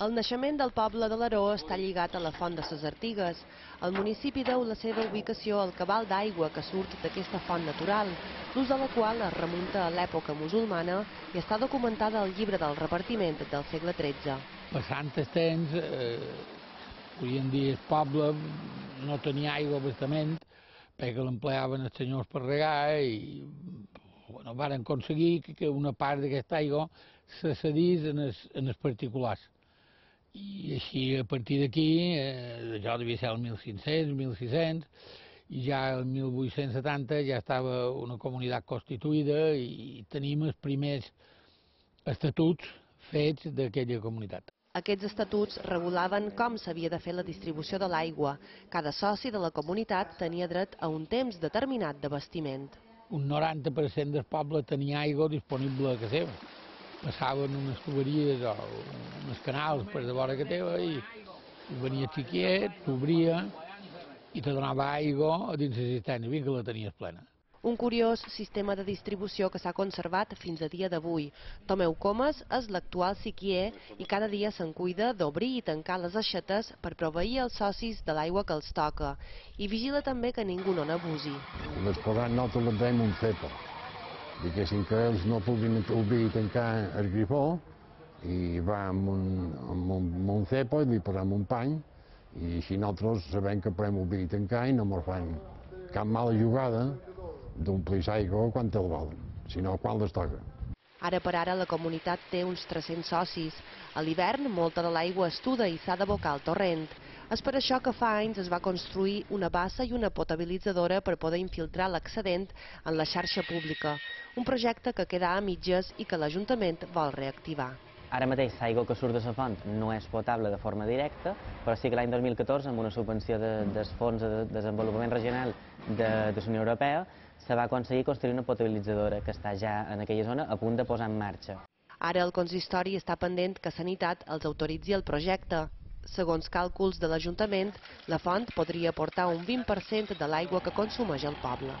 El naixement del poble de l'Aró està lligat a la font de ses Artigues. El municipi deu la seva ubicació al cabal d'aigua que surt d'aquesta font natural, l'ús de la qual es remunta a l'època musulmana i està documentada al llibre del repartiment del segle XIII. Passant el temps, avui en dia el poble no tenia aigua bastament perquè l'empleaven els senyors per regar i van aconseguir que una part d'aquesta aigua se cedís en els particulars. I així, a partir d'aquí, això devia ser el 1500, 1600, i ja el 1870 ja estava una comunitat constituïda i tenim els primers estatuts fets d'aquella comunitat. Aquests estatuts regulaven com s'havia de fer la distribució de l'aigua. Cada soci de la comunitat tenia dret a un temps determinat d'abastiment. Un 90% del poble tenia aigua disponible a casa seva. Passaven unes tuberies o uns canals per de vora que teva i venia el xiquiet, t'obria i te donava aigua dins la cisterna, fins que la tenies plena. Un curiós sistema de distribució que s'ha conservat fins a dia d'avui. Tomeu Comas és l'actual xiquier i cada dia se'n cuida d'obrir i tancar les aixetes per proveir els socis de l'aigua que els toca. I vigila també que ningú no n'abusi. Les posant nosaltres les veiem un cepo. Diguéssim que ells no puguin obrir i tancar el grifó i va amb un cepo i li posem un pany i així nosaltres sabem que podem obrir i tancar i no ens fan cap mala jugada d'omplir l'aigua quan el volen, sinó quan les toca. Ara per ara la comunitat té uns 300 socis. A l'hivern molta de l'aigua estuda i s'ha d'abocar al torrent. És per això que fa anys es va construir una bassa i una potabilitzadora per poder infiltrar l'excedent en la xarxa pública. Un projecte que queda a mitges i que l'Ajuntament vol reactivar. Ara mateix l'aigua que surt de la font no és potable de forma directa, però sí que l'any 2014, amb una subvenció del Fons de Desenvolupament Regional de la Unió Europea, se va aconseguir construir una potabilitzadora que està ja en aquella zona a punt de posar en marxa. Ara el consistori està pendent que Sanitat els autoritzi el projecte. Segons càlculs de l'Ajuntament, la font podria aportar un 20% de l'aigua que consumeix el poble.